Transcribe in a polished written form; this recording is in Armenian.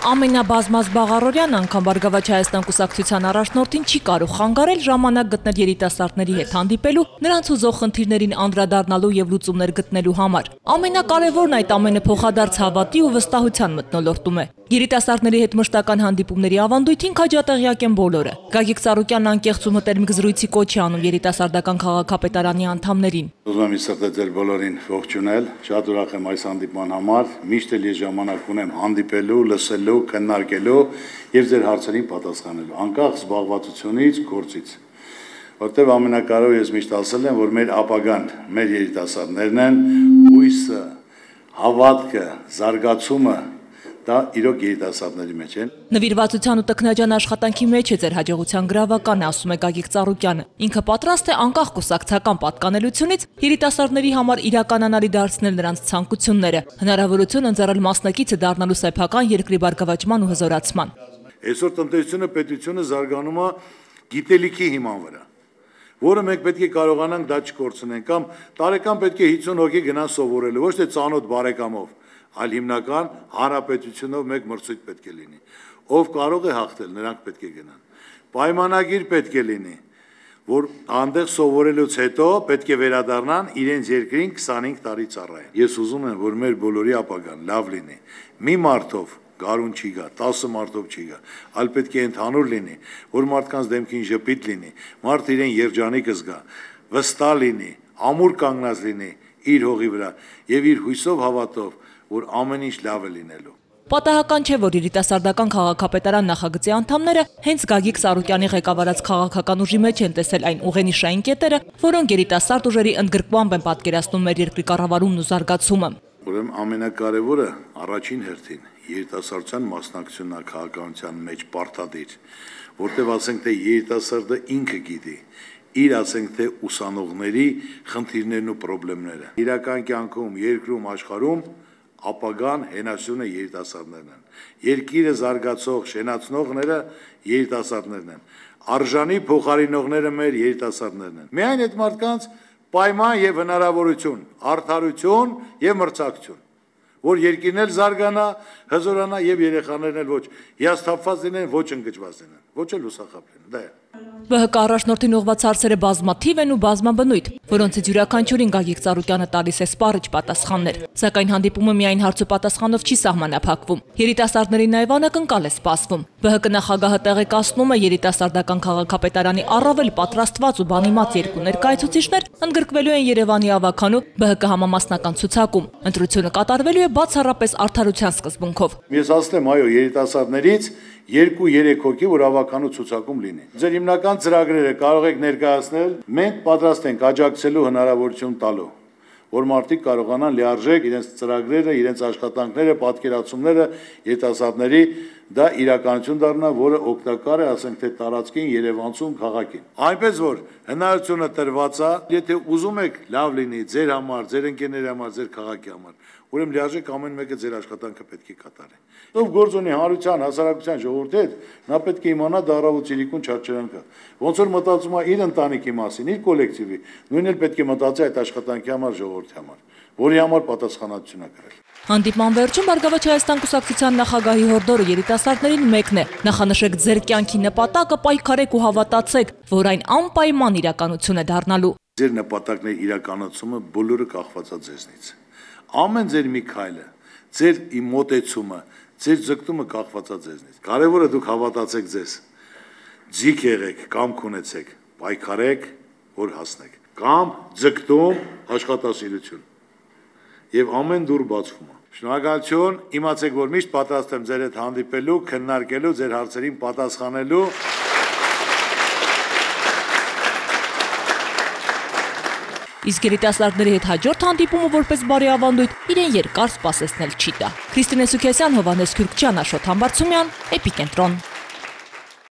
Ամենաբազմազբաղարորյան անգամ Բարգավաճ Հայաստան կուսակցության առաջնորդին չի կարող խանգարել ժամանակ գտնել երիտասարդների հետ հանդիպելու, նրանց ուզող խնդիրներին անդրադառնալու եւ լուծումներ գտնելու համար։ Ամենակարևորն այդ ամենը փոխադարձ հավատի ու վստահության մթնոլորտում է։ Երիտասարդների հետ մշտական հանդիպումների ավանդույթին քաջատեղյակ են բոլորը։ Գագիկ Ծառուկյանն անկեղծ ու մտերմիկ զրույցի կոչ է անում երիտասարդական քաղաքապետարանի անդամներին։ Ուզում եմ սրտել բոլորին ողջունել, շատ ուրախ եմ այս հանդիպման համար, միշտ էլ ես ժամանակ ունեմ հանդիպելու, լսելու, քննարկելու եւ ձեր հարցերին պատասխանելու, անկախ զբաղվածությունից, գործից։ Որտեւ ամենակարևորը ես միշտ ասել եմ, որ մեր ապագան, մեր երիտասարդներն են, հույսը, հավատքը, զարգացումը դա իրոք երիտասարդների մեջ են։ Նվիրվածության ու տքնաջան աշխատանքի մեջ է ձեր հաջողության գրավականը, ասում է Գագիկ Ծառուկյանը։ Ինքը պատրաստ է անկախ կուսակցական պատկանելությունից երիտասարդների համար իրականանալի դարձնել նրանց ցանկությունները, հնարավորություն ընձեռել մասնակիցը դառնալու սեփական երկրի բարգավաճման ու հզորացման։ Այսօր տնտեսությունը, պետությունը զարգանում է գիտելիքի հիման վրա, որը մենք պետք է կարողանանք դա չկորցնենք, կամ տարեկան պետք է 50 հոգի գնան սովորելու, ոչ թե ծանոթ բարեկամով, այլ հիմնական հանրապետությունով մեկ մրցույթ պետք է լինի։ Ով կարող է հաղթել, նրանք պետք է գնան։ Պայմանագիր պետք է լինի, որ այնտեղ սովորելուց հետո պետք է վերադառնան իրենց երկրին 25 տարի ծառայեն։ Ես ուզում եմ, որ մեր բոլորի ապագան լավ լինի։ Մի մարդով գարուն չի գա, 10 մարդով չի գա, այլ պետք է ընդհանուր լինի, որ մարդկանց դեմքին ժպիտ լինի, մարդը իրեն երջանիկ զգա, վստահ լինի, ամուր կանգնած լինի իր հողի վրա եւ իր հույսով հավատով, որ ամեն ինչ լավ է լինելու։ Պատահական չէ, որ երիտասարդական քաղաքապետարան նախագծի անդամները հենց Գագիկ Ծառուկյանի ղեկավարած քաղաքական ուժի մեջ են տեսել այն ուղենիշային կետերը, որոնք երիտասարդ ուժերի ընդգրկմամբ են պատկերացնում մեր երկրի կառավարումն ու զարգացումը։ Ուրեմն ամենակարևորը առաջին հերթին երիտասարդության մասնակցությունն է քաղաքականության մեջ պարտադիր, որտեղ ասենք թե երիտասարդը ինքը գիտի իր ասենք թե ուսանողների խնդիրներն ու խնդիրները։ Իրական կյանքում, երկրում, աշխարհում ապագան հենասյունը երիտասարդներն են։ Երկիրը զարգացող, շենացնողները երիտասարդներն են։ Արժանի փոխարինողները մեր երիտասարդներն են։ Միայն այդ մարդկանց պայման եւ հնարավորություն, արդարություն եւ մրցակցություն, որ երկիրն էլ զարգանա, հզորանա եւ երեխաներն էլ ոչ հիասթափված լինեն, ոչ ընկճված լինեն, ոչ էլ հուսախաբ լինեն։ Դա է։ ԲՀԿ առաջնորդին ուղղված հարցերը բազմաթիվ են ու բազմաբնույթ, որոնցից յուրաքանչյուրին Գագիկ Ծառուկյանը տալիս է սպառիչ պատասխաններ։ Սակայն հանդիպումը միայն հարց ու պատասխանով չի սահմանափակվում։ Երիտասարդների նաև անակնկալ է սպասվում։ ԲՀԿ նախագահը տեղեկացնում է երիտասարդական քաղաքապետարանի առավել պատրաստված ու բանիմաց երկու ներկայացուցիչներ ընդգրկվելու են Երևանի ավագանու ԲՀԿ համամասնական ցուցակում։ Ընտրությունը կատարվելու է բացառապես արդարության սկզբունքով։ Ես ասեմ, այո, երիտասարդներից 2-3 հոգի, որ ավականու ցուցակում լինի։ Ձեր հիմնական ծրագրերը կարող եք ներկայացնել, մենք պատրաստ ենք աջակցելու հնարավորություն տալու, որ մարդիկ կարողանան լիարժեք իրենց ծրագրերը, իրենց աշխատանքները, պատկերացումները երիտասարդների դա իրականություն դառնա, որը օգտակար է, ասենք թե տարածքին, Երևանցուն, քաղաքին։ Այնպես որ հնարավորությունը տրված է, եթե ուզում եք լավ լինի ձեր համար, ձեր ընկերների համար, ձեր քաղաքի համար, ուրեմն լիարժեք ամեն մեկը ձեր աշխատանքը պետք է կատարի։ Ով գործ ունի հանրության, հասարակության ժողովրդի հետ, նա պետք է իմանա դարավու ցիրիկուն չարչարանքը։ Ոնց որ մտածում է իր ընտանիքի մասին, իր կոլեկտիվի, նույնն էլ պետք է մտածի այդ աշխատանքի համար, ժողովրդի համար, որի համար պատասխանատվություն է կրել։ Հանդիպման վերջում Բարգավաճ Հայաստան կուսակցության նախագահի հորդորը երիտասարդներին մեկն է. նախանշեք ձեր կյանքի նպատակը, պայքարեք ու հավատացեք, որ այն անպայման իրականություն է դառնալու։ Ձեր նպատակների իրականացումը բոլորը կախված է ձեզնից։ Ամեն ձեր մի քայլը, ձեր մոտեցումը, ձեր ձգտումը կախված է ձեզնից։ Կարևորը դուք հավատացեք ձեզ։ Ձիգ եղեք, կամք ունեցեք, պայքարեք, որ հասնեք։ Կամ ձգտում, աշխատասիրություն։ Եվ ամեն դուր բացվում է։ Շնորհակալություն, իմացեք, որ միշտ պատրաստ եմ ձեր հետ հանդիպելու, քննարկելու, ձեր հարցերին պատասխանելու։ Իսկ երիտասարդների հետ հաջորդ հանդիպումը որպես բարի ավանդույթ իրեն երկար սպասեցնել չի տա։ Քրիստինե Սուքեսյան, Հովհաննես Քյուրքչյան, Աշոտ Համբարձումյան, Էպիկենտրոն։